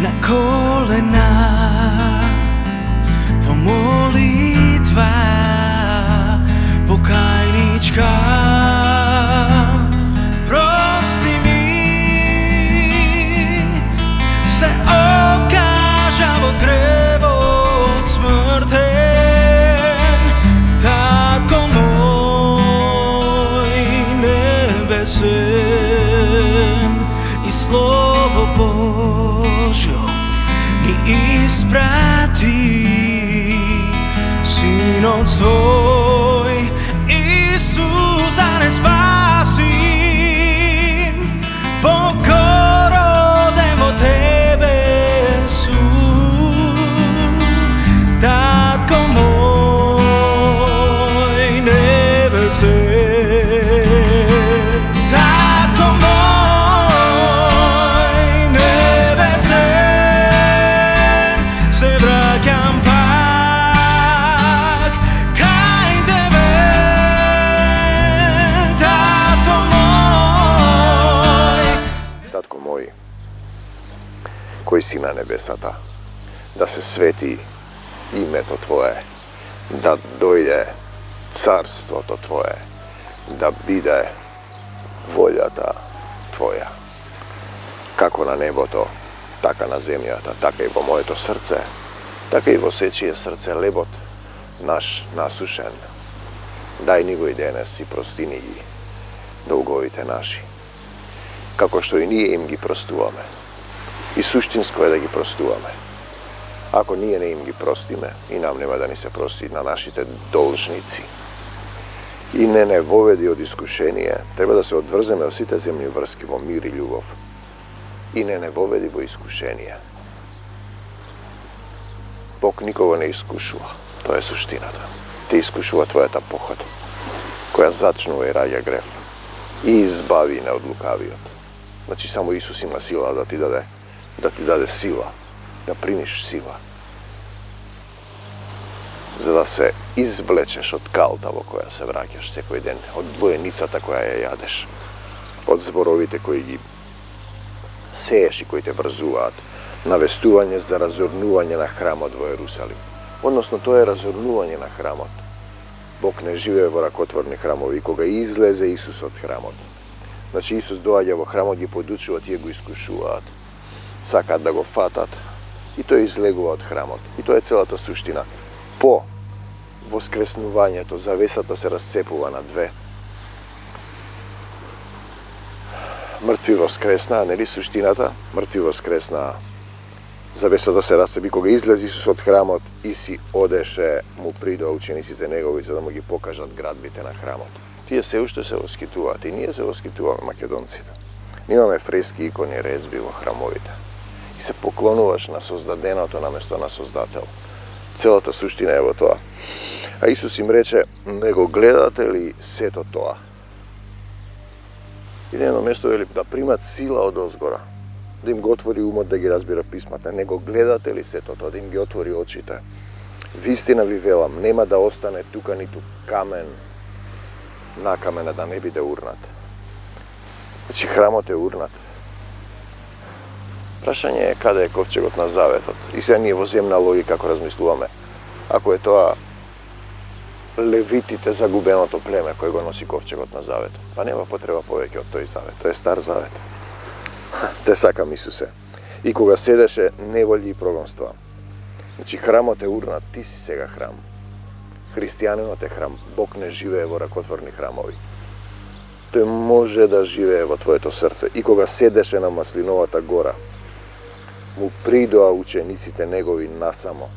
na kolena, во молитва покајничка. Прости ми, се откажа во гревот смртен, татко мој небесен, и Слово Божјо ни испрати, Синот свој Исус да не спаси. Бог роден во тебе Исус, татко мој небесен, татко мој небесен, се враќам пак кај тебе, татко мој. Татко мој, кој си на небесата, да се свети името Твое, да дојде царството Твое, да биде волјата Твоја, како на небото, така на земјата, така и во моето срце, така и во сечие срце лебот наш насушен. Дај ни го и денес и простини ги долговите наши, како што и ние им ги простуваме. И суштинско е да ги простуваме. Ако ние не им ги простиме, и нам нема да ни се прости на нашите должници. И не воведи од искушение, треба да се одврземе од сите земни врски во мир и љубов. И не воведи во искушение. Бог никого не искушува, тоа е суштината. Те искушува твојата похота, која зачнува и раѓа греф и избави не од лукавиот. Значи само Исус има сила да ти даде сила, да примиш сила, за да се извлечеш од калта во која се враќаш секој ден, од двоеницата која ја јадеш, од зборовите кои ги сееш и кои те врзуваат, навестување за разорнување на храмот во Ерусалим. Односно, тоа е разорнување на храмот. Бог не живее во ракотворни храмови. И кога излезе Исус од храмот, значи Исус доаѓа во храмот, ги подучува, тие го искушуваат, сакаат да го фатат, и тој излегува од храмот. И тоа е целата суштина. По воскреснувањето, завесата се расцепува на две. Мртви воскреснаа, нели суштината? Мртви воскреснаа. Завесата се расцепи. Кога излезе Исус од храмот и си одеше, му придоа учениците негови за да му ги покажат градбите на храмот. Тие се уште се воскитуваат и ние се воскитуваме, македонците. Имаме фрески, икони, резби во храмовите. И се поклонуваш на создаденото наместо на Создател. Целата суштина е во тоа. А Исус им рече, не го гледате ли сето тоа? И на едно место вели да примат сила од озгора, да им го отвори умот да ги разбира писмата. Не го гледате ли сето тоа, да им ги отвори очите? Вистина ви велам, нема да остане тука ниту камен на камена да не биде урнат. Значи храмот е урнат. Прашање е каде е ковчегот на заветот. И сега ние во земна логика како размислуваме, ако е тоа левитите, загубеното племе кој го носи ковчегот на заветот, па нема потреба повеќе од тој завет. Тој е стар завет. Те сакам Исусе. И кога седеше неволји и прогонства. Значи храмот е урнат, ти си сега храм. Христијанинот е храм. Бог не живее во ракотворни храмови. Тој може да живее во твоето срце. И кога седеше на Маслиновата гора, му придоа учениците негови насамо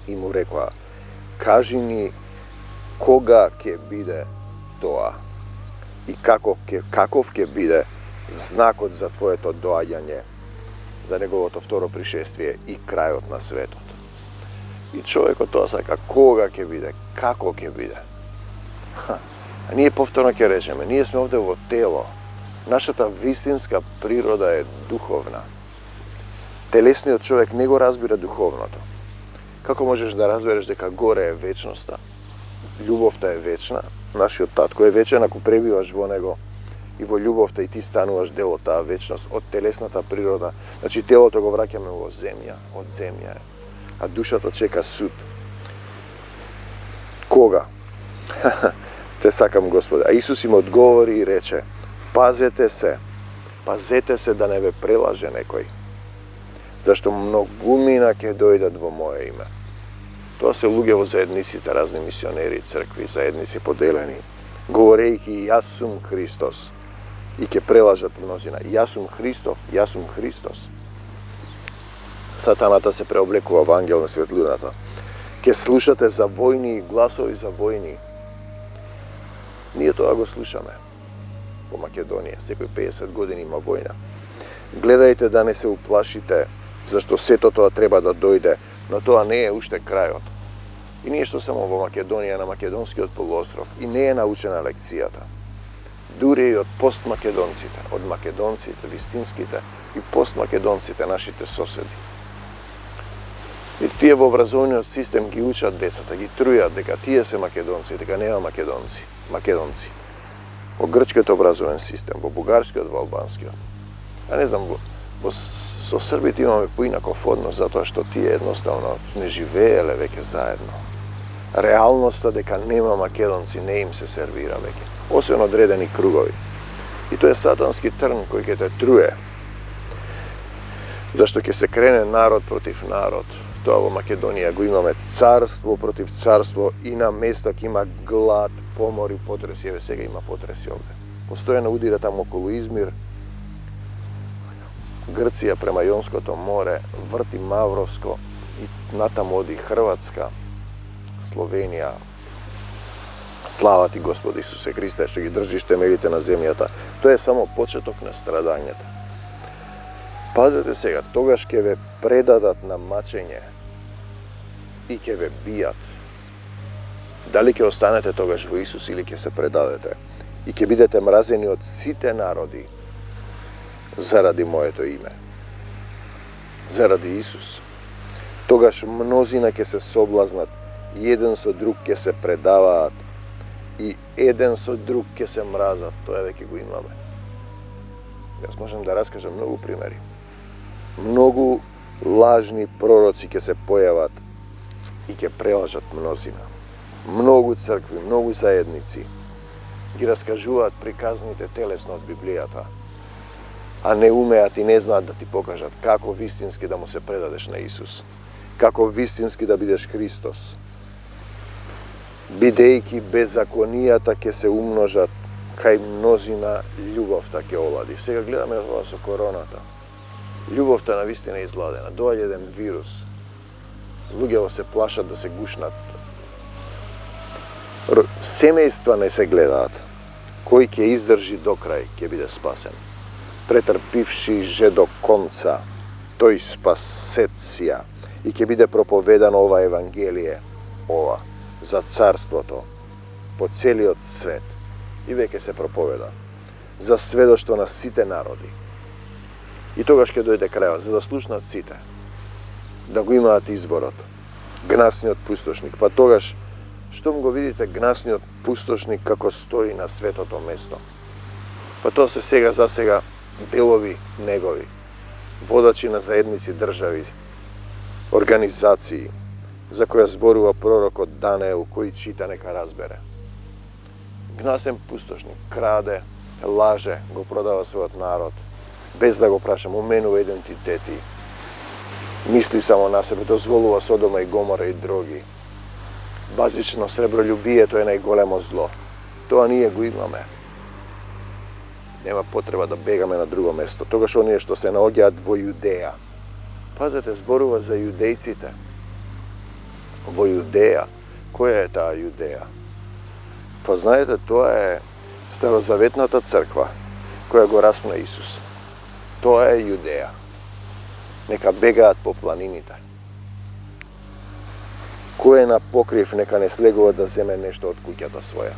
и му рекоа, кажи ни кога ќе биде тоа и каков ќе биде знакот за твоето доаѓање, за неговото второ пришествие и крајот на светот. И човекот тоа сака, кога ќе биде, како ќе биде. А ние повторно ќе речеме, ние сме овде во тело. Нашата вистинска природа е духовна. Телесниот човек не го разбира духовното. Како можеш да разбереш дека горе е вечноста, љубовта е вечна, нашиот татко е вечен ако пребиваш во него, и во љубовта и ти стануваш дел од таа вечност, од телесната природа. Значи телото го враќаме во земја, од земја е, а душата чека суд. Кога? Те сакам, Господи. А Исус им одговори и рече: пазете се да не ве прелаже некој, зашто многумина ќе дојдат во моје име. Тоа се луѓе во заедниците, разни мисионери, цркви, заедници поделени, говорејќи јас сум Христос, и ќе прелажат мнозина. Јас сум Христос. Сатаната се преоблекува во ангел на светлината. Ќе слушате за војни и гласови за војни. Ние тоа го слушаме во Македонија. Секој 50 години има војна. Гледајте да не се уплашите, зашто сето тоа треба да дојде, но тоа не е уште крајот. И ние што само во Македонија, на македонскиот полуостров, и не е научена лекцијата. Дури и од постмакедонците, од македонците, вистинските и постмакедонците, нашите соседи. И тие во образовниот систем ги учат децата, ги трујат дека тие се македонци, дека нема македонци. Во грчкиот образовен систем, во бугарскиот, во албанскиот. А не знам, со србите имаме поинаков однос, затоа што тие едноставно не живееле веќе заедно. Реалноста дека нема македонци не им се сервира веќе, освен одредени кругови. И тоа е сатански трн кој ќе те труе. Зашто ќе се крене народ против народ. Тоа во Македонија го имаме царство против царство и на места ќе има глад, помор и потреси. Еве сега има потреси овде. Постојано удира таму околу Измир, Грција према Јонското море, врти Мавровско и натаму оди Хрватска, Словенија. Слава ти, Господи Исусе Христе, што ги држиш темелите на земјата. Тоа е само почеток на страдањата. Пазете сега, тогаш ќе ве предадат на мачење и ќе ве бијат. Дали ќе останете тогаш во Исус или ќе се предадете? И ќе бидете мразени од сите народи заради моето име. Заради Исус. Тогаш мнозина ќе се соблазнат, и еден со друг ќе се предаваат, и еден со друг ќе се мразат. Тоа веќе го имаме. Јас можам да раскажам многу примери. Многу лажни пророци ќе се појават и ќе прелажат мнозина. Многу цркви, многу заедници ги раскажуваат приказните телесно од Библијата, а не умеат и не знаат да ти покажат како вистински да му се предадеш на Исус, како вистински да бидеш Христос. Бидејќи беззаконијата ќе се умножат, кај мнозина љубовта ќе олади. Сега гледаме ова со короната. Љубовта на вистина е изладена. Доаѓа еден вирус. Луѓето се плашат да се гушнат. Семејства не се гледаат. Кој ќе издржи до крај, ќе биде спасен. Претрпивши же до конца, тој спасеција, и ќе биде проповедано ова Евангелие, ова, за царството, по целиот свет, и веќе се проповеда, за сведоштво на сите народи. И тогаш ќе дојде крајот, за да слушнат сите, да го имаат изборот, гнасниот пустошник. Па тогаш, штом го видите гнасниот пустошник како стои на светото место, па тоа се сега за сега делови негови, водачи на заедници држави, организации, за која зборува пророкот Даниел, кој чита нека разбере. Гнасен пустошник краде, лаже, го продава својот народ, без да го праша, му менува идентитети, мисли само на себе, дозволува Содома и Гомора и други. Базично сребролюбието е најголемо зло. Тоа ние го имаме. Нема потреба да бегаме на друго место. Тогаш оние што се наоѓаат во Јудеја. Пазете, зборува за јудејците. Во Јудеја. Која е таа Јудеја? Па знаете, тоа е старозаветната црква која го распна Исус. Тоа е Јудеја. Нека бегаат по планините. Кој е на покрив, нека не слегува да земе нешто од куќата своја.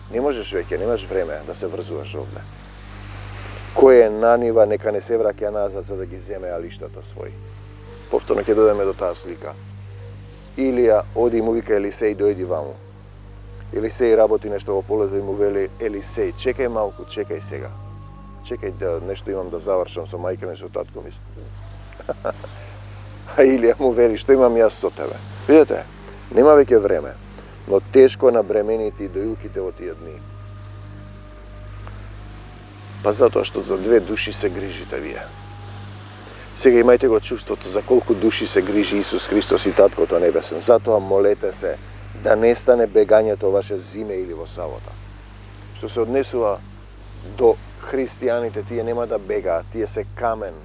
Не можеш веќе, немаш време да се врзуваш овде. Кој е на нива, нека не се враќа назад за да ги земе алиштата своји. Повторно ќе дојдеме до таа слика. Илија оди и му вика Елисеј, дојди ваму. Елисеј работи нешто во полето и му вели Елисеј, чекај малку, чекај сега. чекај да нешто имам да завршам со мајка ми, со татко ми. А Илија му вели, што имам јас со тебе? Видете, нема веќе време, но тешко набременити и доилките во тие дни. Па затоа што за 2 души се грижите вие. Сега имајте го чувството за колку души се грижи Исус Христос и Таткото Небесен. Затоа молете се да не стане бегањето ваше зиме или во сабота. Што се однесува до христијаните, тие нема да бегаат, тие се камен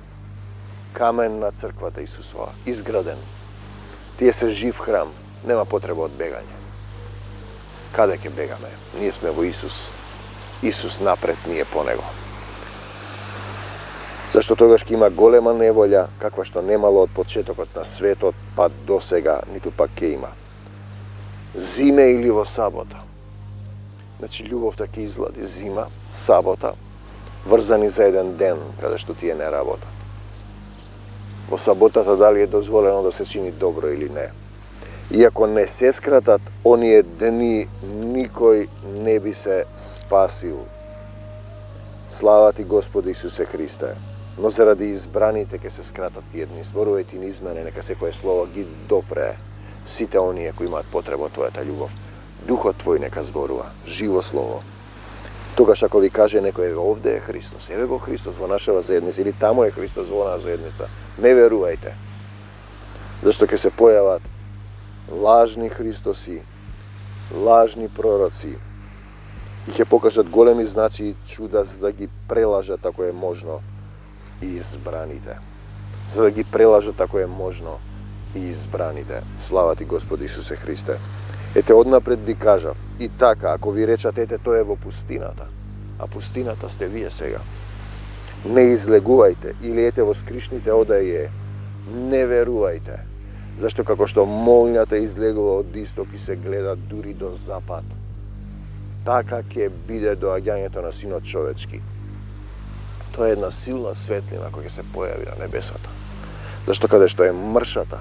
на црквата Исусова, изграден. Тие се жив храм, нема потреба од бегање. Каде ќе бегаме? Ние сме во Исус. Исус напред, ние по Него. Зашто тогаш ќе има голема неволја, каква што немало од почетокот на светот, па до сега, ниту пак ќе има. Зиме или во сабота. Значи, љубовта ќе излади зима, сабота, врзани за еден ден, каде што тие не работат. Во саботата дали е дозволено да се чини добро или не. Иако не се скратат оние дни, никој не би се спасил. Слава ти Господи Исусе Христе. Но заради избраните ќе се скратат тие дни. Зборувајте низ мене, нека секое слово ги допре сите оние кои имаат потреба од твојата љубов. Духот твој нека зборува, живо слово. Тогаш ако ви каже некој, овде е Христос, еве го Христос во нашава заедница, или таму е Христос во нашава заедница, не верувајте. Зашто ќе се појават лажни Христоси, лажни пророци и ќе покажат големи знаци и чуда за да ги прелажат ако е можно и избраните. За да ги прелажат ако е можно и избраните. Слава ти Господи Исусе Христе. Ете, однапред ви кажав, и така, ако ви речат, ете, тој е во пустината, а пустината сте вие сега. Не излегувајте, или ете во скришните одај е, не верувајте. Зашто како што молњата излегува од исток и се гледа дури до запад, така ќе биде доаѓањето на Синот човечки. Тоа е една силна светлина која ќе се појави на небесата. Зашто каде што е мршата,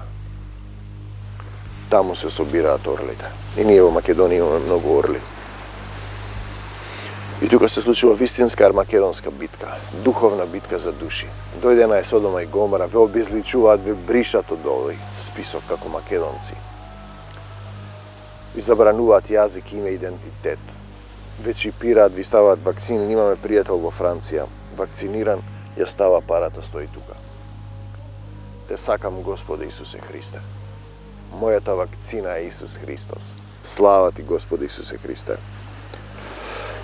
таму се собираат орлите. И ние во Македонија имаме многу орли. И тука се случила вистинска армакедонска битка, духовна битка за души. Дојде на Содома и Гомора, ве обезличуваат, ве бришат од овој список како македонци. Ви забрануваат јазик, име, идентитет. Ве чипираат, ви ставаат вакцини. Имаме пријател во Франција, вакциниран, ја става парата, стои тука. Те сакам, Господи Исусе Христе. Мојата вакцина е Исус Христос. Слава ти, Господи Исусе Христе.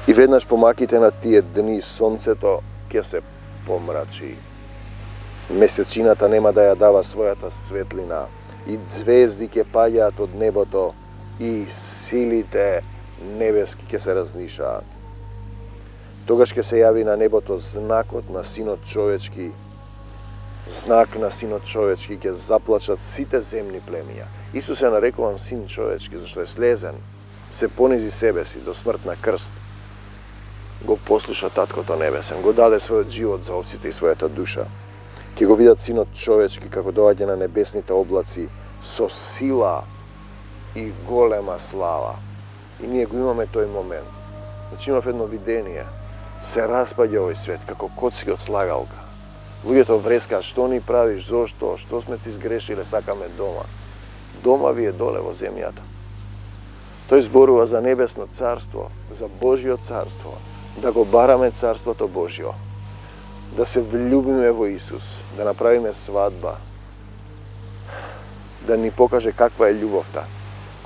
И веднаш помаките на тие дни сонцето ќе се помрачи. Месечината нема да ја дава својата светлина. И звезди ќе паѓаат од небото и силите небески ќе се разнишаат. Тогаш ќе се јави на небото знакот на Синот човечки. Знак на Синот човечки ќе заплачат сите земни племиња. Исус е нарекуван Син човечки, зашто е слезен, се понизи себе си до смрт на крст. Го послуша Таткото Небесен, го даде својот живот за овците и својата душа. Ќе го видат Синот човечки како доаѓа на небесните облаци со сила и голема слава. И ние го имаме тој момент. Значи имав едно видение. Се распаѓа овој свет како коцки од слагалка. Луѓето врескаат, што ни правиш, зошто, што сме ти сгрешиле, сакаме дома. Дома ви е доле во земјата. Тој зборува за небесно царство, за Божјо царство, да го бараме царството Божјо, да се влюбиме во Исус, да направиме свадба, да ни покаже каква е љубовта,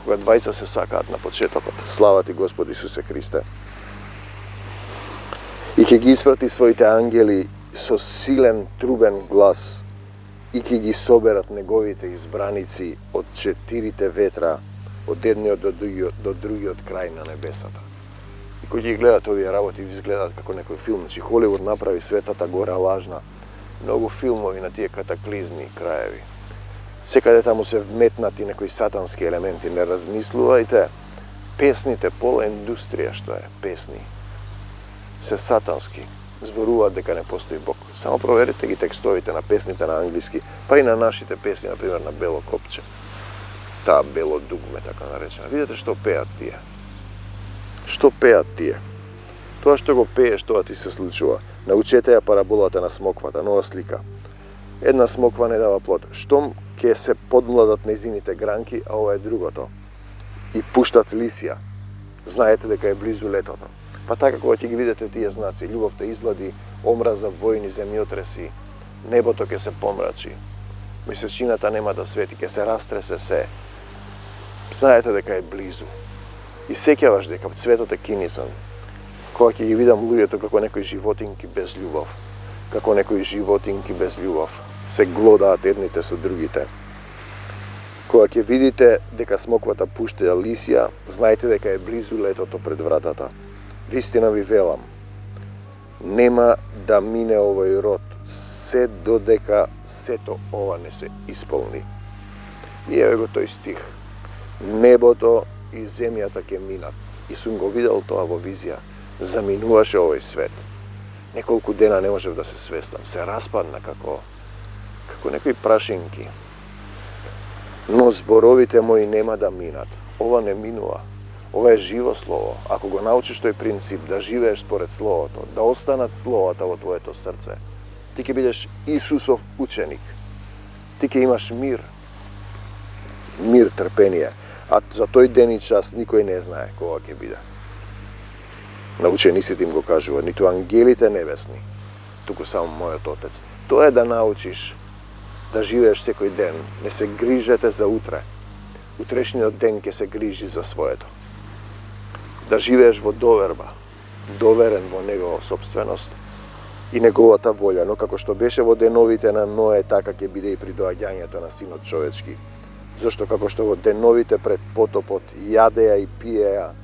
кога двајца се сакаат на почетокот. Слава ти, Господи Исусе Христе. И ќе ги испрати своите ангели со силен трубен глас и ќе ги соберат неговите избраници од 4 ветра, од едниот до другиот крај на небесата. И кој ги гледат овие работи, ви изгледаат како некој филм. Значи Холивуд направи светата гора лажна. Многу филмови на тие катаклизми и краеви. Секаде таму се вметнати некои сатански елементи. Не размислувајте, песните, пола индустрија што е, песни, се сатански. Зборуваат дека не постои Бог. Само проверите ги текстовите на песните на англиски, па и на нашите песни, например на Бело копче. Таа бело дугме, така наречена. Видете што пеат тие. Што пеат тие? Тоа што го пееш, тоа ти се случува. Научете ја параболата на смоквата, нова слика. Една смоква не дава плод. Штом ќе се подмладат нејзините гранки, а ова е другото. И пуштат лисија. Знаете дека е близу летото. Па така кога ќе ги видите тие знаци, љубовта излади, омраза, војни, земјотреси, небото ќе се помрачи. Месечината нема да свети, ќе се растресе се. Знаете дека е близу. И сеќаваш дека светот е кинисан. Кога ќе ги видам луѓето како некои животинки без љубов, како некои животинки без љубов, се глодаат едните со другите. Кога ќе видите дека смоквата пушта лисија, знаете дека е близу летото пред вратата. Вистина ви велам, нема да мине овој род, се додека сето ова не се исполни. И еве го тој стих. Небото и земјата ќе минат. И сум го видел тоа во визија. Заминуваше овој свет. Неколку дена не можев да се свестам. Се распадна како некои прашинки. Но зборовите мои нема да минат. Ова не минува. Ова е живо слово. Ако го научиш тој принцип да живееш според словото, да останат словата во твоето срце, ти ќе бидеш Исусов ученик. Ти ќе имаш мир. Мир, трпение. А за тој ден и час никој не знае кога ќе биде. На учениците им го кажува, ниту ангелите небесни, туку само мојот Отец. Тоа е да научиш да живееш секој ден. Не се грижете за утре. Утрешниот ден ќе се грижи за своето. Да живееш во доверба, доверен во Негова собственост и Неговата волја, но како што беше во деновите на Ное, така ќе биде и при доаѓањето на Синот човечки. Зашто како што во деновите пред потопот јадеа и пиеа,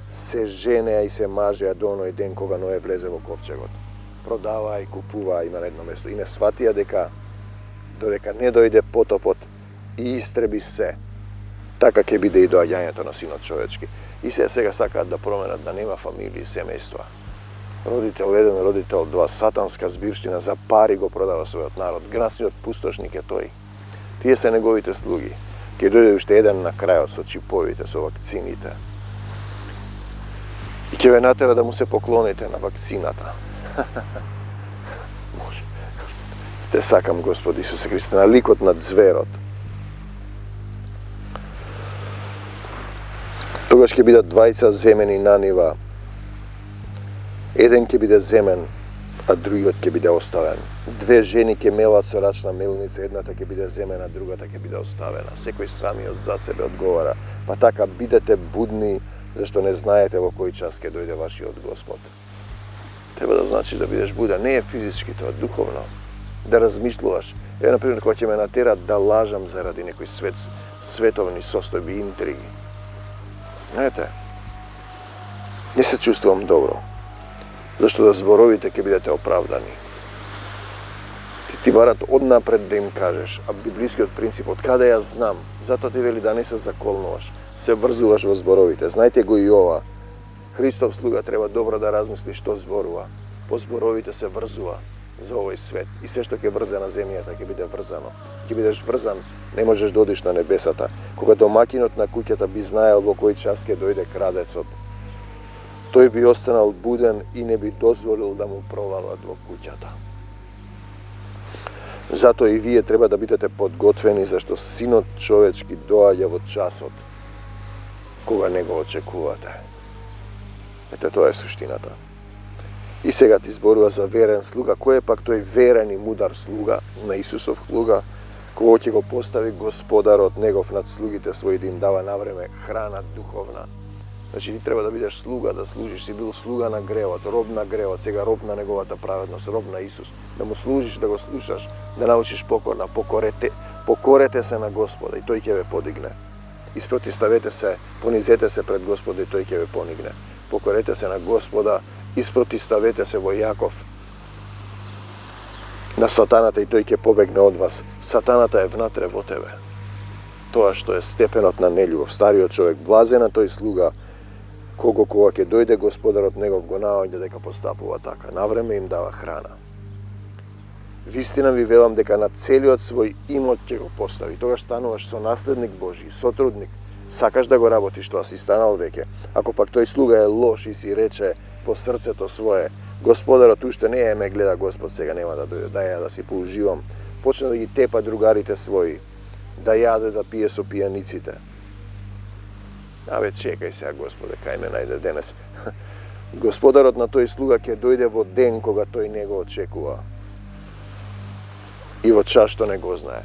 се женеа и се мажеа до оној ден кога Ное влезе во ковчегот. Продаваа и купуваа и на едно место. И не сватија дека додека не дојде потопот и истреби се, така ќе биде и доаѓањето на Синот човечки. И сега сакаат да променат да нема фамилии и семејства. Родител 1, родител 2, сатанска збирштина, за пари го продава својот народ. Гнасниот пустошник е тој. Тие се неговите слуги. Ќе дојде уште еден на крајот со чиповите, со вакцините. И ќе ве натера да му се поклоните на вакцината. Може. Те сакам, Господи Исусе Христе, на ликот над зверот. Тогаш ќе бидат двајца земени на нива. Еден ќе биде земен, а другиот ќе биде оставен. Две жени ќе мелат со рачна мелница, едната ќе биде земена, другата ќе биде оставена. Секој самиот за себе одговара. Па така бидете будни, зашто не знаете во кој час ќе дојде вашиот Господ. Треба да значиш да бидеш буден. Не е физички тоа, духовно. Да размислуваш. Еве, например, кога ќе ме натерат да лажам заради некои световни состојби, интриги. Знаете, не се чувствувам добро. Зашто да зборовите ќе бидете оправдани. Ти барат однапред да им кажеш, а библискиот принцип, од каде ја знам, затоа ти вели да не се заколнуваш, се врзуваш во зборовите. Знаете го и ова. Христов слуга треба добро да размисли што зборува. По зборовите се врзува за овој свет. И се што ќе врзе на земјата ќе биде врзано. Ќе бидеш врзан, не можеш да одиш на небесата. Кога домакинот на куќата би знаел во кој час ќе дојде крадецот, тој би останал буден и не би дозволил да му провалат во куќата. Затоа и вие треба да бидете подготвени, зашто Синот човечки доаѓа во часот кога не го очекувате. Ете, тоа е суштината. И сега ти зборува за верен слуга. Кој е пак тој верен и мудар слуга на Исусов слуга, кога ќе го постави Господарот негов над слугите своји да им дава навреме храна духовна. Значи ти треба да бидеш слуга, да служиш, си бил слуга на гревот, роб на гревот, сега роб на неговата праведност, роб на Исус. Да му служиш, да го слушаш, да научиш покорна, покорете се на Господа и тој ќе ве подигне. Испротиставете се, понизете се пред Господа и тој ќе ве понигне. Покорете се на Господа, испротиставете се во Јаков на сатаната и тој ќе побегне од вас. Сатаната е внатре во тебе. Тоа што е степенот на нељубов. Стариот човек, блазен на тој слуга, кога ќе дојде Господарот негов го наоѓа дека постапува така. Навреме им дава храна. Вистина ви велам дека на целиот свој имот ќе го постави. Тогаш стануваш со наследник Божи, сотрудник, Сакаш да го работиш тоа, си станал веќе. Ако пак тој слуга е лош и си рече во срцето свое, Господарот уште не ме гледа, Господ сега нема да дојде, да ја да си поуживам, почна да ги тепа другарите своји, да јаде, да пие со пијаниците. Абе, чекај сега, Господе, кај ме најде денес. Господарот на тој слуга ќе дојде во ден кога тој не го очекува. И во час што не го знае.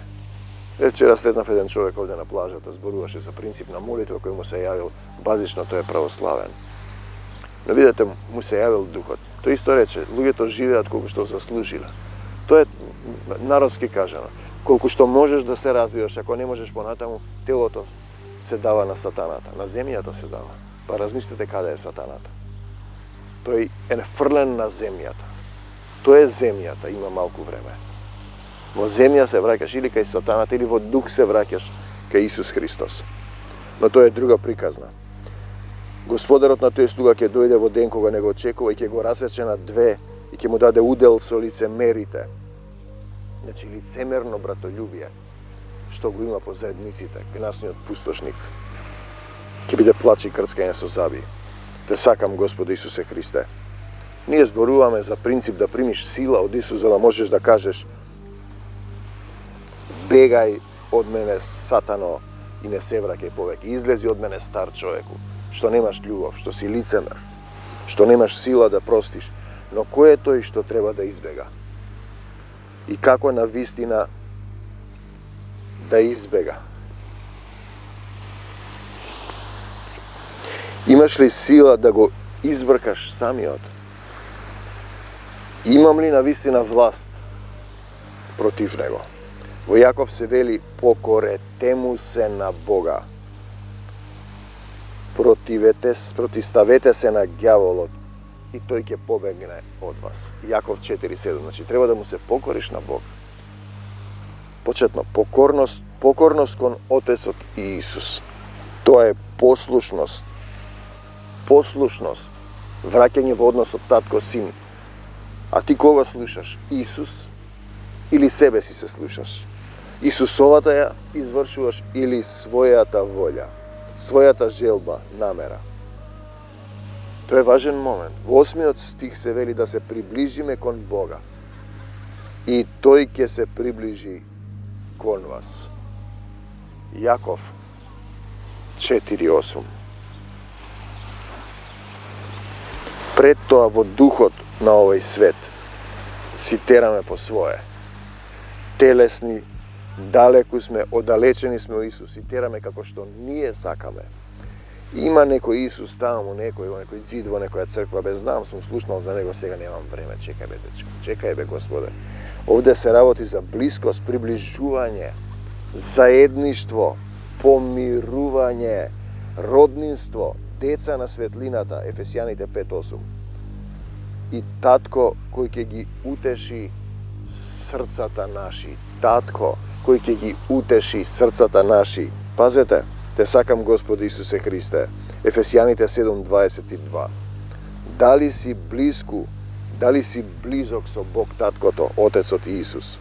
Вчера следнав еден човек овде на плажата, зборуваше за принцип на молитва кој му се јавил, базично тој е православен. Но видете, му се јавил духот. Тој исто рече, луѓето живеат колку што заслужиле. Тоа е народски кажано. Колку што можеш да се развиваш, ако не можеш понатаму, телото се дава на сатаната, на земјата се дава. Па размислете каде е сатаната. Тој е фрлен на земјата. Тоа е земјата, има малку време. Во земја се враќаш или кај сатаната, или во дух се враќаш кај Исус Христос. Но тоа е друга приказна. Господарот на тој слуга ќе дојде во ден кога не го очекува и ќе го расече на две и ќе му даде удел со лицемерите. Значи лицемерно братолюбие, што го има по заедниците, гнасниот пустошник. Ќе биде плач и крцкање со заби. Те сакам, Господи Исусе Христе. Ние зборуваме за принцип да примиш сила од Исус, за да можеш да кажеш: бегај од мене, сатано, и не се враќај повеќе. Излези од мене, стар човеку, што немаш љубов, што си лицемер, што немаш сила да простиш. Но кој е тој што треба да избега? И како на вистина да избега? Имаш ли сила да го избркаш самиот? Имам ли на вистина власт против него? Во Јаков се вели: покорете му се на Бога. Протиставете се на ѓаволот и тој ќе побегне од вас. Јаков 4:7. Значи треба да му се покориш на Бог. Почетно, покорност кон Отецот и Исус. Тоа е послушност. Послушност. Враќање во односот татко-син. А ти кога слушаш? Исус или себе си се слушаш? Исусовата ја извршуваш или својата волја, својата желба, намера? Тоа е важен момент. Во 8 стих се вели да се приближиме кон Бога и тој ќе се приближи кон вас. Јаков 4:8. Пред тоа во духот на овој свет си тераме по свое. Телесни, далеку сме, оддалечени сме од Исус, и тераме како што ние сакаме. Има некој Исус таму, некој ѕид во некоја црква, бе, знам, сум слушнал за него, сега немам време, чекај бе, дечко, чекај бе, Господе. Овде се работи за блискост, приближување, заедништво, помирување, роднинство, деца на светлината, Ефесијаните 5:8. И татко кој ќе ги утеши срцата наши, татко кој ќе ги утеши срцата наши. Пазете, те сакам, Господи Исусе Христе. Ефесијаните 7:22. Дали си близку, дали си близок со Бог таткото, Отецот и Исус?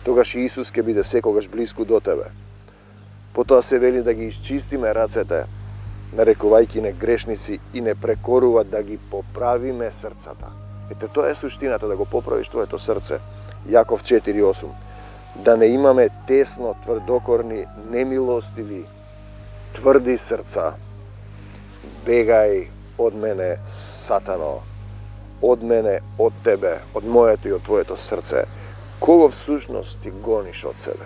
Тогаш и Исус ќе биде секогаш близку до тебе. Потоа се вели да ги изчистиме рацете, нарекувајќи не грешници, и не прекорува да ги поправиме срцата. Ете, тоа е суштината, да го поправиш твоето срце. Јаков 4:8. Да не имаме тесно, тврдокорни, немилостиви, тврди срца. Бегај од мене, сатано, од мене, од тебе, од моето и од твоето срце. Кого всушност ти гониш од себе?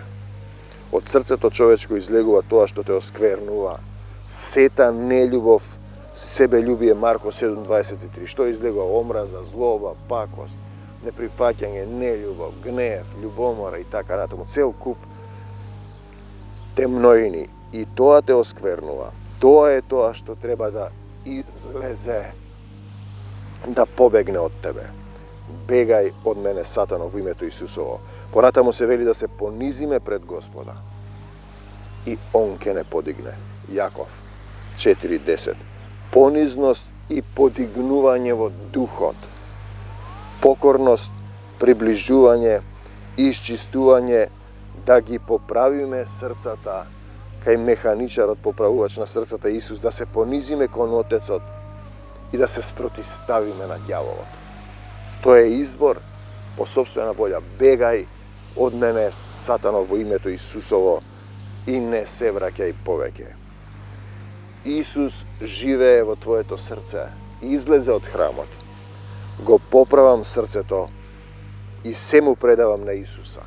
Од срцето човечко излегува тоа што те осквернува. Сета нељубов, себељубие, Марко 7:23. Што излегува? Омраза, злоба, пакост, неприфаќање, нељубов, гнев, љубомора и така натаму. Цел куп темноини. И тоа те осквернува. Тоа е тоа што треба да излезе, да побегне од тебе. Бегај од мене, сатано, во името Исусово. Понатаму се вели да се понизиме пред Господа и Он ќе не подигне. Јаков 4:10. Понизност и подигнување во духот, покорност, приближување, исчистување, да ги поправиме срцата кај механичарот поправувач на срцата Исус, да се понизиме кон Отецот и да се спротиставиме на ѓаволот. Тоа е избор по собствена волја. Бегај од мене, Сатано, во името Исусово, и не се враќај повеќе. Исус живее во твоето срце. Излезе од храмот. Го поправам срцето и се му предавам на Исуса.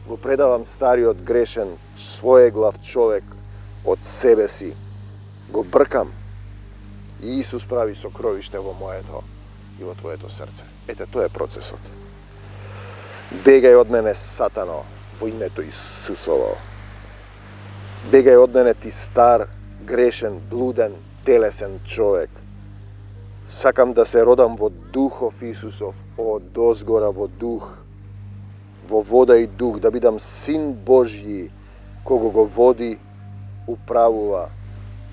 Го предавам стариот грешен, своеглав човек од себе си. Го бркам. И Исус прави сокровиште во моето и во твоето срце. Ете, тоа е процесот. Бегај од мене, Сатано, во името Исусово. Бегај од мене, ти стар, грешен, блуден, телесен човек. Сакам да се родам во Духов Исусов, од озгора во дух, во вода и дух, да бидам син Божји, кого го води, управува,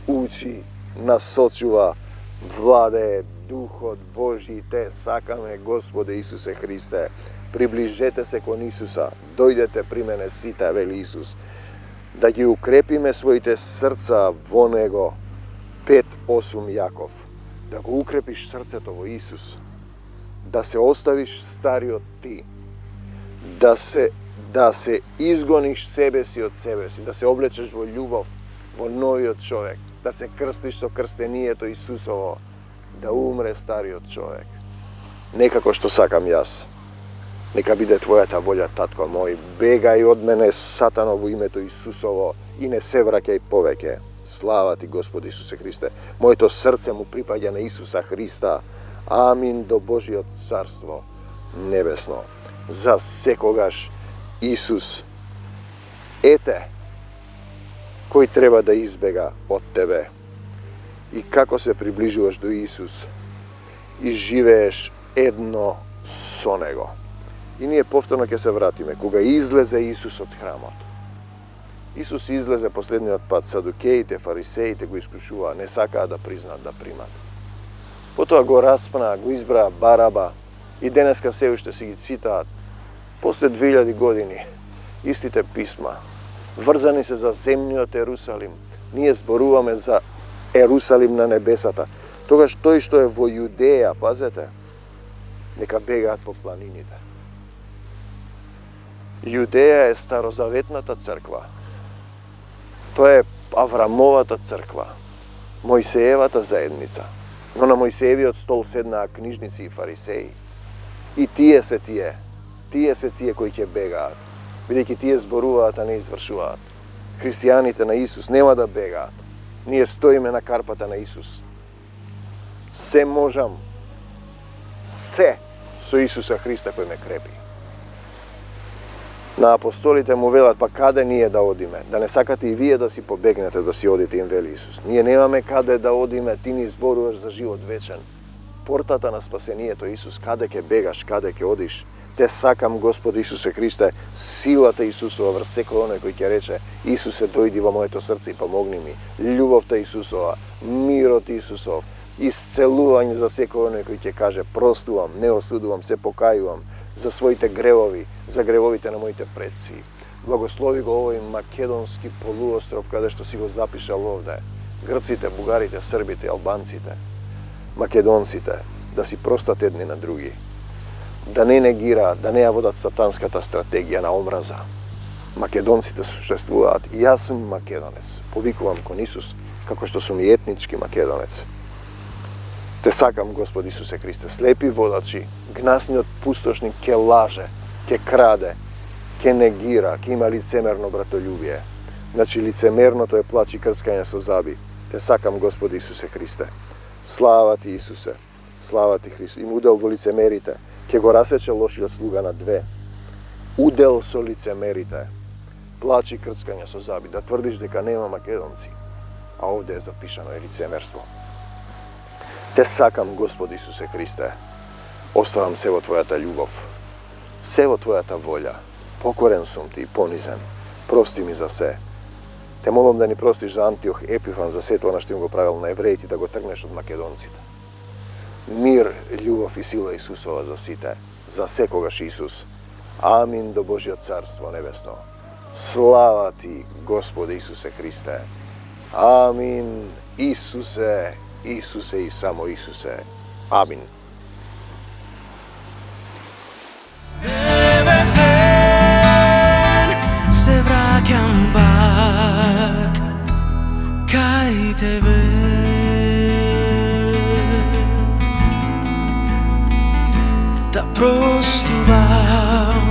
учи, насочува, владее Духот Божји. Те сакаме, Господе Исусе Христе. Приближете се кон Исуса, дојдете при мене сите, вели Исус, да ги укрепиме своите срца во Него. 5:8 Јаков. Да го укрепиш срцето во Исус, да се оставиш стариот ти, да се изгониш себе си од себе си, да се облечеш во љубов, во новиот човек, да се крстиш со крстението Исусово, да умре стариот човек. Некако што сакам јас. Нека биде твојата волја, татко мој. Бегај од мене, Сатано, во името Исусово, и не се враќај повеќе. Слава ти, Господи Исусе Христе. Моето срце му припаѓа на Исуса Христа. Амин, до Божиот царство небесно. За секогаш Исус. Ете, кој треба да избега од тебе. И како се приближуваш до Исус и живееш едно со Него. И ние повторно ќе се вратиме, кога излезе Исус од храмот. Исус излезе последниот пат, садукеите, фарисеите го искушуваа, не сакаа да признаат да примат. Потоа го распнаа, го избраа Бараба и денеска се уште си ги цитаат. После 2000 години, истите писма, врзани се за земниот Ерусалим. Ние зборуваме за Ерусалим на небесата. Тогаш тој што е во Јудеја, пазете, нека бегаат по планините. Јудеја е старозаветната црква. Тоа е Аврамовата црква, Мојсеевата заедница. Но на Мојсеевиот стол седнаа книжници и фарисеи. И тие се тие кои ќе бегаат, бидејќи тие зборуваат, а не извршуваат. Христијаните на Исус нема да бегаат. Ние стоиме на карпата на Исус. Се можам, се со Исуса Христа кој ме крепи. На апостолите му велат, па каде ние да одиме? Да не сакате и вие да си побегнете, да си одите, им вели Исус. Ние немаме каде да одиме, ти ни зборуваш за живот вечен. Портата на спасението, Исус, каде ќе бегаш, каде ќе одиш? Те сакам, Господи Исусе Христе, силата Исусова врз секој оној кој ќе рече, Исусе, дојди во моето срце и помогни ми. Љубовта Исусова, мирот Исусов, исцелување за секој оној кој ќе каже, простувам, не осудувам, се покајувам за своите гревови, за гревовите на моите предци. Благослови го овој македонски полуостров, каде што си го запишал овде. Грците, бугарите, србите, албанците, македонците, да си простат едни на други. Да не негираат, да не ја водат сатанската стратегија на омраза. Македонците существуваат. И јас сум македонец. Повикувам кон Исус, како што сум и етнички македонец. Те сакам, Господи Исусе Христе, слепи водачи, гнасниот пустошник ке лаже, ке краде, ке негира, ке има лицемерно братолюбие. Значи лицемерното е плач и крскање со заби. Те сакам, Господи Исусе Христе. Слава ти, Исусе. Слава ти, Христо. Им удел во лицемерите. Ке го расече лошиот слуга на две. Удел со лицемерите. Плач и крскање со заби. Да тврдиш дека нема македонци. А овде е запишано е лицемерство. Те сакам, Господи Исусе Христе. Оставам се во Твојата љубов. Се во Твојата волја. Покорен сум ти и понизен. Прости ми за се. Те молам да ни простиш за Антиох Епифан, за сето она што им го правил на евреите, да го тргнеш од македонците. Мир, љубов и сила Исусова за сите, за секогаш Исус. Амин, до Божиот царство небесно. Слава ти, Господи Исусе Христе. Амин. Исусе, Исусе и само Исусе. Амин. Небесен, се враќам пак кај тебе. Да простувам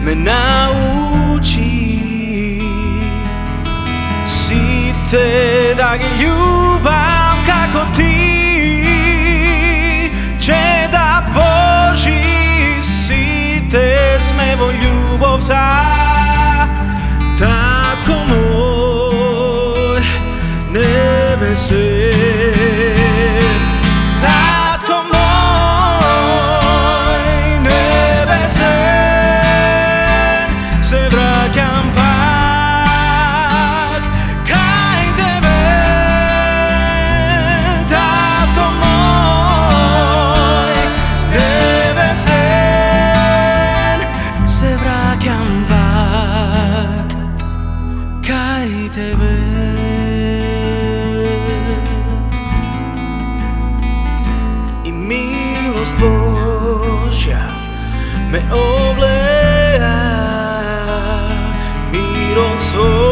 ме научи, сите да ги љубам како ти, че да Божи сите сме во љубовта. Татко мој небесен, татко мој небесен, се враќам пак кај тебе. Татко мој небесен, се враќам пак кај тебе. И милост Божја ме облеа, мирот свој